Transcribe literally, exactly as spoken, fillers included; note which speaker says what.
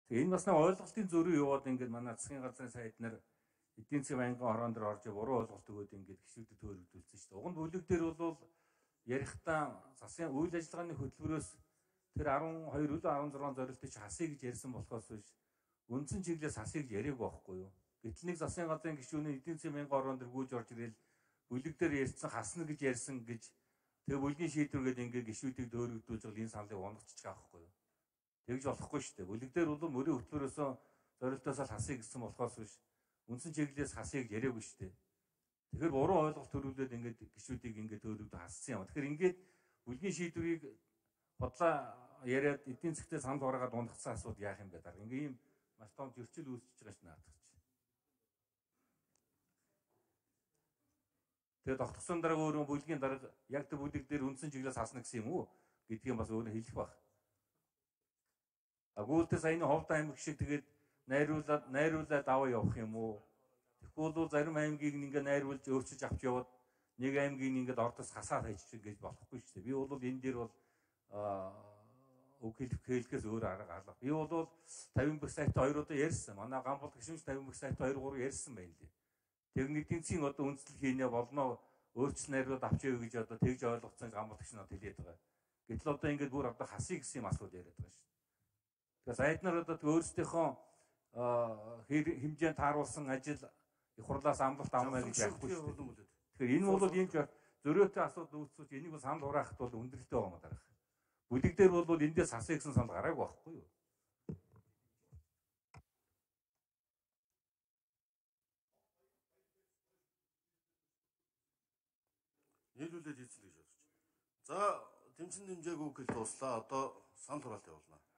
Speaker 1: Тэгээ энэ бас нэг ойлголтын зөрүү яваад ингээд манай засгийн газрын сайд нар эдийн засгийн байнгын хорон дээр орж буруу ойлголт өгөөд ингээд гишүүдэд төөрөгдүүлсэн шүү дээ. Уг нь бүлэг дээр бол ярихдаа засгийн үйл ажиллагааны хөтөлбөрөөс тэр арван хоёр үлээ арван зургаан зорилтыг чи хасъя гэж ярьсан болохоос биш үндсэн чиглэлээс хасъя гэж яриаг байхгүй юу. Гэтэл нэг засгийн газрын гишүүний эдийн засгийн байнгын хорон дээр гүйж орж ирэл бүлэг дээр ярьсан хасна гэж ярьсан гэж тэгээ бүлгийн шийдвэргээд ингээд гишүүдийг төөрөгдүүлж байгаа энэ саналыг унгацчих байхгүй юу. Тэгж болохгүй шүү дээ. Бүлэг дээр бол мөрийн хөтөлбөрөөсөө зорилтоос л хасъя гэсэн болохоос биш үндсэн чиглэлээс хасъя гэж яриаггүй шүү дээ. Тэгэхээр буруу ойлголт төрүүлээд ингээд гишүүдийг ингээд төөрөгдөө хассан юм. Тэгэхээр ингээд бүлгийн шийдвэрийг бодлоо яриад эдийн засгтээ санал ураагаад ундгацсан асуудал яах юм бэ дараа. Ингээд ийм маш том зөрчил үүсэж байгаа ш наадах чи. Тэгээд тогтсон дараа өөрөө бүлгийн дарга яг тэр бүлэг дээр үндсэн чиглэлээс хасна гэсэн юм уу гэдгийг бас өөрөө хэлэх баг. Агуултаа саяны Ховд аймаг шиг тэгээд найруулаад найруулаад аваа явах юм уу? Тэгэхгүй бол зарим аймгийг ингээ найруулж өөрчилж авч яваад нэг аймгийг ингээд ордоос хасаад хайчих гэж болохгүй шүү дээ. Би бол энэ дээр бол үг хэлэхээс өөр арга алга. Би бол тавин бүх сайт хоёр удаа ярьсан. Манай Гамбол гишүүнч тавин бүх сайт хоёр гурав ярьсан байна лээ. Тэг нэгдийн засгийн одоо үндэслэл хийнэ болно өөрчлөлт найруулад авч явъя гэж одоо тэгж ойлгоцсон Гамбол гишүүн одоо хэлээд байгаа. Гэтэл одоо ингээд бүр одоо хасъя гэсэн юм асууд яриад байгаа шүү. Тэгэхээр сайд нар одоо өөрсдийнхөө хэмжээнд тааруулсан ажил их хурлаас амлалт авмаа гэж ярихгүй шүү дээ. Тэгэхээр энэ бол ийм зөрөөтэй асуудал үүсвэж энийг бол санал хураахт бол өндөрлөлтөө байгаа юм дараах. Бүлэг дээр бол эндээс хасъя гэсэн санал гараагүй байхгүй юу?
Speaker 2: Нийлүүлээд хийсэн гэж бодож байна. За, тэмцэн дэмжээг үг хэл дуслаа. Одоо санал хураалт явуулна.